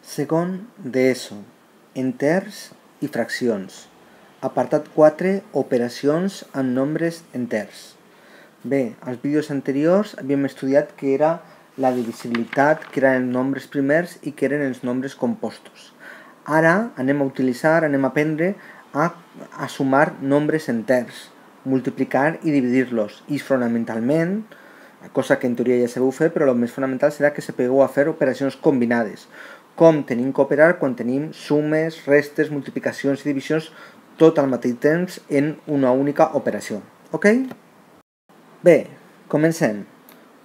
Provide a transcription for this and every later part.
Segon d'ESO, enters i fraccions. Apartat 4, operacions amb nombres enters. Bé, als vídeos anteriors havíem estudiat que era la divisibilitat, que eren els nombres primers i que eren els nombres compostos. Ara anem a aprendre a sumar nombres enters, multiplicar i dividir-los. I fonamentalment, cosa que en teoria ja sabeu fer, però el més fonamental serà que sapigueu a fer operacions combinades. Com tenim que operar quan tenim sumes, restes, multiplicacions i divisions tot al mateix temps en una única operació. Ok? Bé, comencem.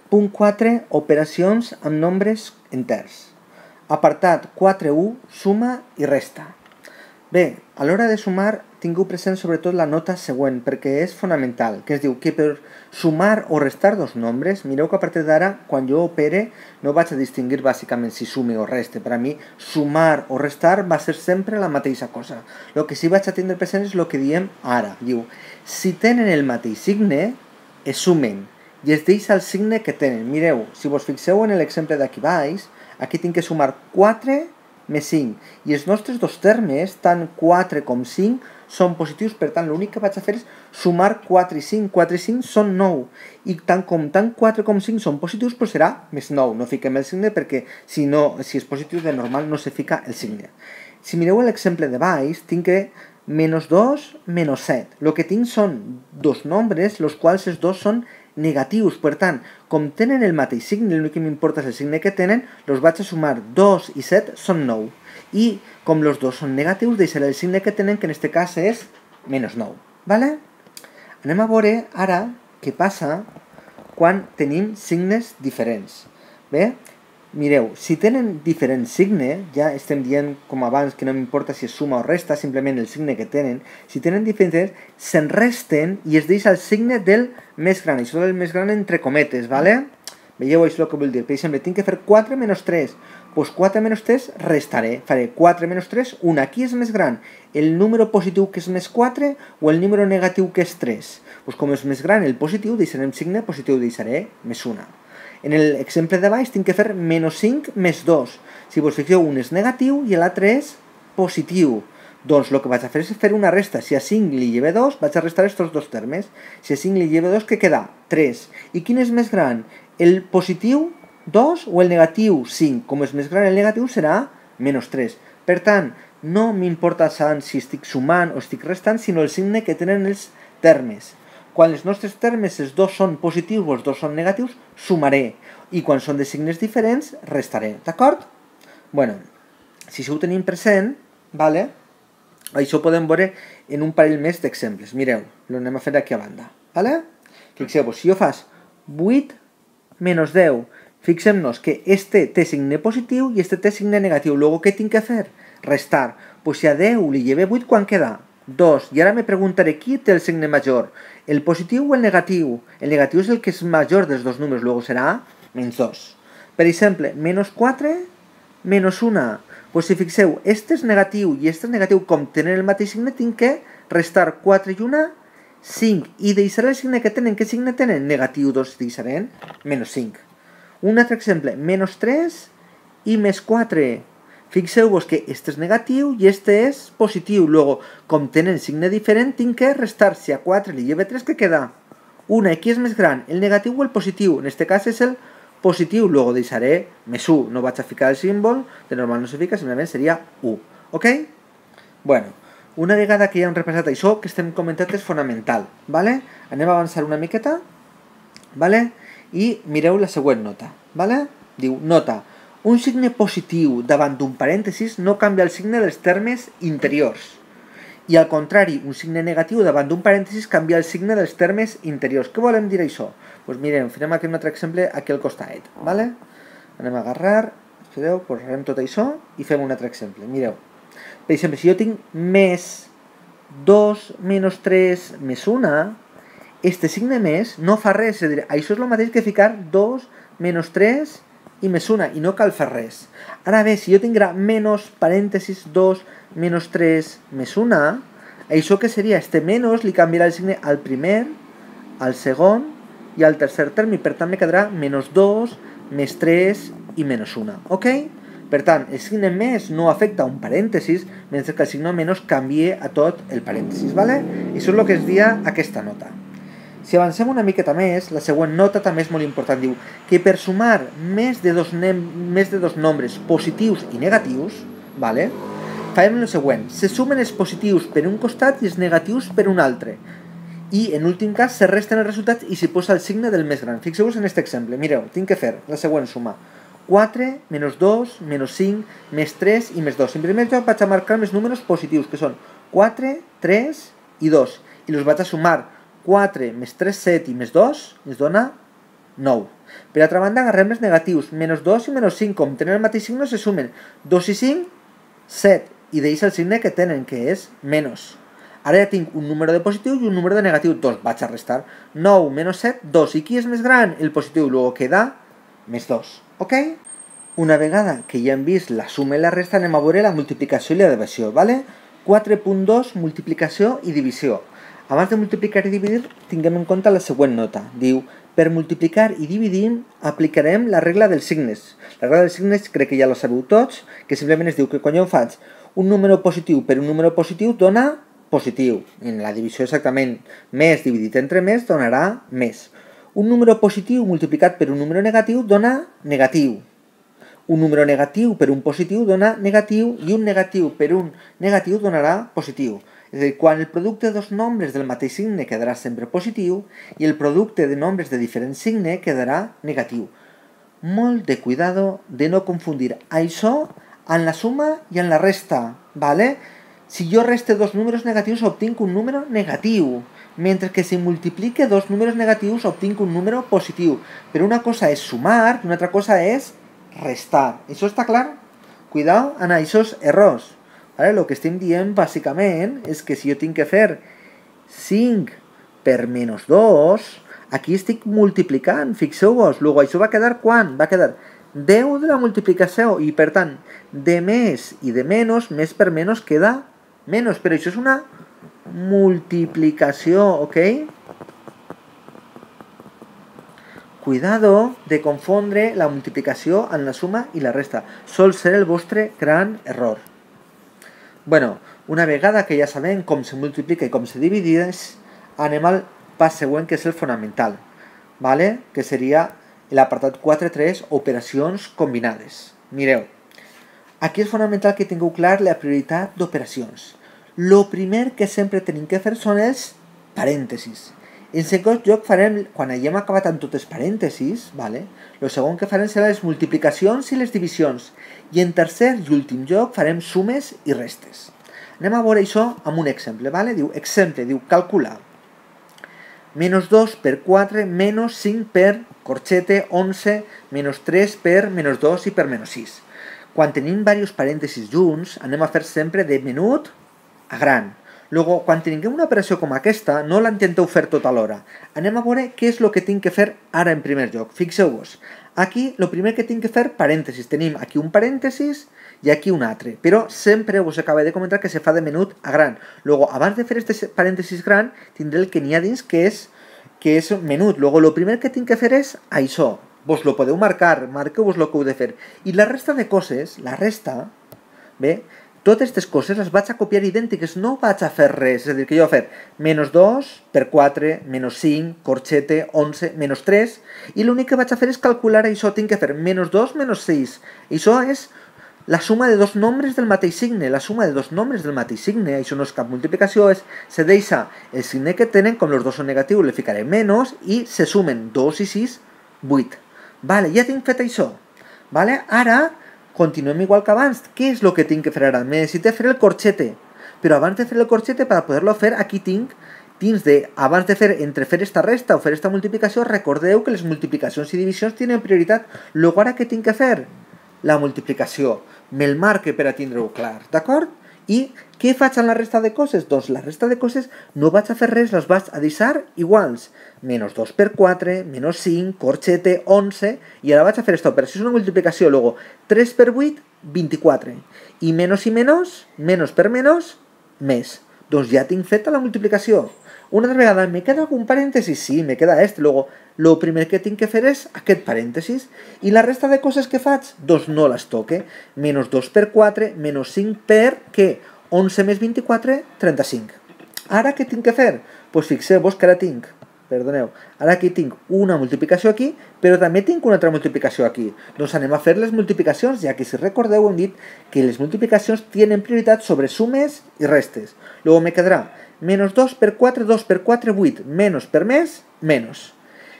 Punt 4. Operacions amb nombres enters. Apartat 4.1. Suma i resta. Bé, a l'hora de sumar tingueu present sobretot la nota següent perquè és fonamental, que es diu que per sumar o restar dos nombres, mireu que a partir d'ara, quan jo opere, no vaig a distingir bàsicament si sume o reste. Per a mi, sumar o restar va ser sempre la mateixa cosa. El que sí vaig a tindre present és el que diem ara. Diu, si tenen el mateix signe, es sumen i es deixa el signe que tenen. Mireu, si vos fixeu en l'exemple d'aquí baix, aquí tinc que sumar 4 més 5. I els nostres dos termes, tant 4 com 5, són positius, per tant l'únic que vaig a fer és sumar 4 i 5. 4 i 5 són 9. I tant 4 com 5 són positius, però serà més 9. No fiquem el signe perquè si és positiu de normal no se fica el signe. Si mireu l'exemple de baix, tinc que menys 2, menys 7. El que tinc són dos nombres, els quals els dos són negatius. Per tant, com tenen el mateix signe, l'únic que m'importa és el signe que tenen, els vaig a sumar. 2 i 7 són 9. I com els dos són negatius, deixaré el signe que tenen, que en aquest cas és menys 9. Vale? Anem a veure ara què passa quan tenim signes diferents. Bé, mireu, si tenen diferent signe, ja estem dient com abans que no m'importa si és suma o resta, simplement el signe que tenen, si tenen diferents, se'n resten i es deixa el signe del més gran. Això del més gran entre cometes, vale? Veieu això el que vull dir? Per exemple, tinc que fer 4 menys 3. Doncs 4 menys 3 restaré. Faré 4 menys 3, 1. Qui és més gran? El número positiu que és més 4 o el número negatiu que és 3? Doncs com és més gran el positiu, deixarem signe positiu, deixaré més 1. En l'exemple de baix tinc que fer menys 5 més 2. Si vos fixeu, un és negatiu i l'altre és positiu. Doncs el que vaig a fer és fer una resta. Si a 5 li lleve 2, vaig a restar aquests dos termes. Si a 5 li lleve 2, què queda? 3. I quin és més gran? El positiu 2 o el negatiu 5? Com és més gran el negatiu serà menys 3. Per tant, no m'importa tant si estic sumant o estic restant, sinó el signe que tenen els termes. Quan els nostres termes, els dos són positius o els dos són negatius, sumaré. I quan són de signes diferents, restaré. D'acord? Bueno, si això ho tenim present, vale? Això ho podem veure en un parell més d'exemples. Mireu, l'anem a fer aquí a banda. Vale? Fixeu-vos, si jo fas 8 menys 10, fixem-nos que este té signe positiu i este té signe negatiu. Luego, què tinc que fer? Restar. Pues si a 10 li lleve 8, quan queda? 2. I ara me preguntaré qui té el signe major, el positiu o el negatiu? El negatiu és el que és major dels dos números, luego serà menys 2. Per exemple, menys 4, menys 1. Pues si fixeu, este és negatiu i este és negatiu, com tenen el mateix signe, tinc que restar 4 i 1, 5. I deixaré el signe que tenen. Què signe tenen? Negatiu, 2 deixarem menys 5. Un altre exemple, menys 3 i més 4. Fixeu-vos que este és negatiu i este és positiu. Luego, com tenen signe diferent, tinc que restar. Si a 4 li lleve 3, què queda? 1. I qui és més gran? El negatiu o el positiu? En aquest cas és el positiu. Luego deixaré més 1. No vaig a ficar el símbol, de normal no se fica, simplement seria 1. Ok? Bueno, una vegada que ja hem repassat això, que estem comentant és fonamental. Vale? Anem a avançar una miqueta. Vale? I mireu la següent nota. Vale? Diu, nota. Un signe positiu davant d'un parèntesis no canvia el signe dels termes interiors. I al contrari, un signe negatiu davant d'un parèntesis canvia el signe dels termes interiors. Què volem dir això? Doncs mirem, farem aquí un altre exemple aquí al costat. Vale? Anem a agarrar, espereu, posarem tot això i fem un altre exemple. Mireu. Per exemple, si jo tinc més 2 menys 3 més 1, este signe més no fa res. És a dir, això és el mateix que ficar 2 menys 3 i més 1, i no cal fer res. Ara bé, si jo tinguera menys parèntesis 2 menys 3 més 1, això que seria? Este menys li canviarà el signe al primer, al segon i al tercer terme, i per tant me quedarà menys 2 més 3 i menys 1. Ok? Per tant, el signe més no afecta un parèntesis, mentre que el signe menys canvia a tot el parèntesis, ¿vale? I això és el que es dia aquesta nota. Si avancem una miqueta més, la següent nota també és molt important. Diu que per sumar més de dos nombres positius i negatius, ¿vale? Farem el següent. Se sumen els positius per un costat i els negatius per un altre. I, en últim cas, se resten els resultats i s'hi posa el signe del més gran. Fixeu-vos en aquest exemple. Mireu, tinc que fer la següent suma. 4, menys 2, menys 5, més 3 i més 2. En primer lloc vaig a marcar els números positius, que són 4, 3 i 2. I els vaig a sumar. 4 més 3, 7 i més 2 ens dona 9. Per altra banda, agarrem els negatius. Menys 2 i menys 5, com tenen el mateix signe, se sumen. 2 i 5, 7. I deixa el signe que tenen, que és menys. Ara ja tinc un número de positiu i un número de negatiu. 2. Vaig a restar. 9 menys 7, 2. I qui és més gran? El positiu. Luego queda més 2. Ok? Una vegada que ja hem vist la suma i la resta, anem a veure la multiplicació i la divisió. ¿Vale? 4.2, multiplicació i divisió. Abans de multiplicar i dividir, tinguem en compte la següent nota. Diu, per multiplicar i dividir aplicarem la regla dels signes. La regla dels signes crec que ja la sabeu tots, que simplement es diu que quan jo faig un número positiu per un número positiu dona positiu. En la divisió exactament més dividit entre més donarà més. Un número positiu multiplicat per un número negatiu dona negatiu. Un número negatiu per un positiu dona negatiu i un negatiu per un negatiu donarà positiu. És a dir, quan el producte de dos nombres del mateix signe quedarà sempre positiu i el producte de nombres de diferent signe quedarà negatiu. Molt de cuidado de no confundir això en la suma i en la resta, ¿vale? Si jo reste dos números negatius obtinc un número negatiu, mentre que si multiplique dos números negatius obtinc un número positiu. Però una cosa és sumar i una altra cosa és restar. Això està clar? Cuidao en aquests errors. Vale? El que estem dient bàsicament és que si jo tinc que fer 5 per menys 2, aquí estic multiplicant, fixeu-vos. Luego això va quedar quan? Va quedar 10 de la multiplicació i per tant de més i de menys, més per menys queda menys, però això és una multiplicació, ok? Cuidado de confondre la multiplicació amb la suma i la resta. Sol ser el vostre gran error. Bueno, una vegada que ja sabem com se multiplica i com se divideix, anem al pas següent, que és el fonamental, ¿vale? Que seria l'apartat 4.3, operacions combinades. Mireu, aquí és fonamental que tingueu clar la prioritat d'operacions. Lo primer que sempre tenim que fer són els parèntesis. En segon lloc farem, quan haguem acabat amb tots els parèntesis, ¿vale? Lo segon que farem serà les multiplicacions i les divisions. I en tercer i últim lloc farem sumes i restes. Anem a veure això amb un exemple, ¿vale? Diu, exemple, diu, calcular. Menys 2 per 4, menys 5 per corxete 11, menys 3 per menys 2 i per menys 6. Quan tenim diversos parèntesis junts, anem a fer sempre de menut a gran. Luego, quan tinguem una operació com aquesta, no la intenteu fer tot alhora. Anem a veure què és el que tinc que fer ara en primer lloc. Fixeu-vos. Aquí, el primer que tinc que fer, parèntesis. Tenim aquí un parèntesis i aquí un altre. Però sempre us acabo de comentar que se fa de menut a gran. Luego, abans de fer aquest parèntesis gran, tindré el que n'hi ha dins, que és menut. Luego, el primer que tinc que fer és això. Vos lo podeu marcar, marqueu-vos el que heu de fer. I la resta de coses, la resta, bé, totes aquestes coses les vaig a copiar idèntiques, no vaig a fer res. És a dir, que jo vaig fer menys 2 per 4, menys 5, corxete, 11, menys 3, i l'únic que vaig a fer és calcular això. Tinc que fer menys 2, menys 6. Això és la suma de dos nombres del mateix signe. La suma de dos nombres del mateix signe, això no és cap multiplicació, se deixa el signe que tenen, com els dos són negatius, le ficaré menys, i se sumen 2 i 6, 8. Vale, ja tinc fet això. Vale, ara continuem igual que abans. Què és el que tinc que fer ara? Necessito fer el corxete. Però abans de fer el corxete, per poder-lo fer, aquí tinc, abans de fer, entre fer esta resta o fer esta multiplicació, recordeu que les multiplicacions i divisions tenen prioritat. Luego, ara què tinc que fer? La multiplicació. Me'l marque per a tindre-ho clar, d'acord? I què faig amb la resta de coses? Doncs la resta de coses no vaig a fer res, les vaig a deixar iguals. Menys 2 per 4, menys 5, corxete, 11, i ara vaig a fer aquesta operació, és una multiplicació. Luego, 3 per 8, 24. I menys per menys, més. Doncs ja tinc feta la multiplicació. Una altra vegada, ¿me queda algun parèntesi? Sí, me queda este. Luego, el primer que tinc que fer és aquest parèntesis. I la resta de coses que faig, doncs no les toque. Menys 2 per 4, menys 5 per, què? 11 més 24, 35. Ara què tinc que fer? Doncs fixeu-vos que ara tinc, perdoneu, ara aquí tinc una multiplicació aquí, però també tinc una altra multiplicació aquí. Doncs anem a fer les multiplicacions, ja que si recordeu hem dit que les multiplicacions tenen prioritat sobre sumes i restes. Luego me quedarà menys 2 per 4, 2 per 4, 8, menys per més, menys.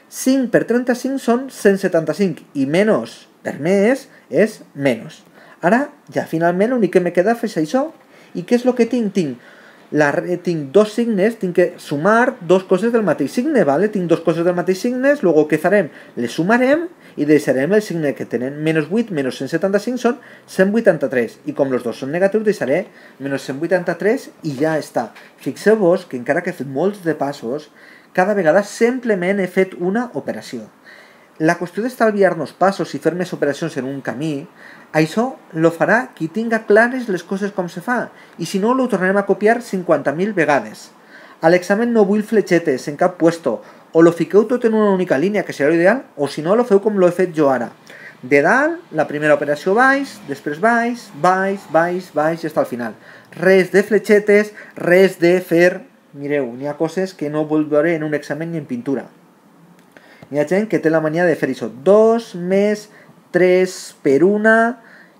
5 per 35 són 175 i menys per més és menys. Ara, ja finalment l'únic que me queda és això. I què és el que tinc? Tinc dos signes, tinc que sumar dos coses del mateix signe, ¿vale? Tinc dos coses del mateix signe, luego què farem? Les sumarem i deixarem el signe que tenen menys 8 menys 175 són 183 i com els dos són negatius deixaré menys 183 i ja està. Fixeu-vos que encara que he fet molts de passos, cada vegada simplement he fet una operació. La qüestió d'estalviar-nos passos i fer més operacions en un camí, això lo farà qui tinga clares les coses com se fa, i si no, lo tornarem a copiar 50.000 vegades. A l'examen no vull fletxetes en cap puesto, o lo fiqueu tot en una única línia, que serà l'ideal, o si no, lo feu com lo he fet jo ara. De dalt, la primera operació baix, després baix, baix, baix, baix i està al final. Res de fletxetes, res de fer... Mireu, n'hi ha coses que no vull veure en un examen ni en pintura. Hi ha gent que té la mania de fer això. 2 més 3 per 1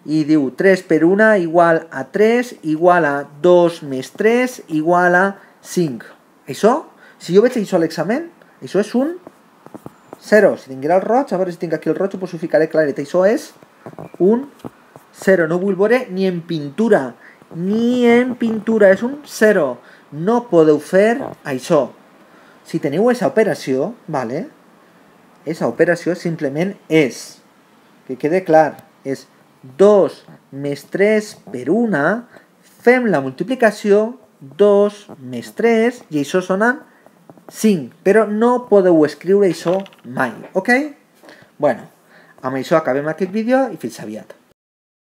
i diu 3 per 1 igual a 3 igual a 2 més 3 igual a 5. Això, si jo veig això a l'examen, això és un 0. Si tinguera el roig, a veure si tinc aquí el roig, ho ficaré claret. Això és un 0. No vull veure ni en pintura. Ni en pintura. És un 0. No podeu fer això. Si teniu aquesta operació, vale? Aquesta operació simplement és, que quede clar, és 2 més 3 per 1, fem la multiplicació, 2 més 3, i això sona 5, però no podeu escriure això mai, ok? Bueno, amb això acabem aquest vídeo i fins aviat.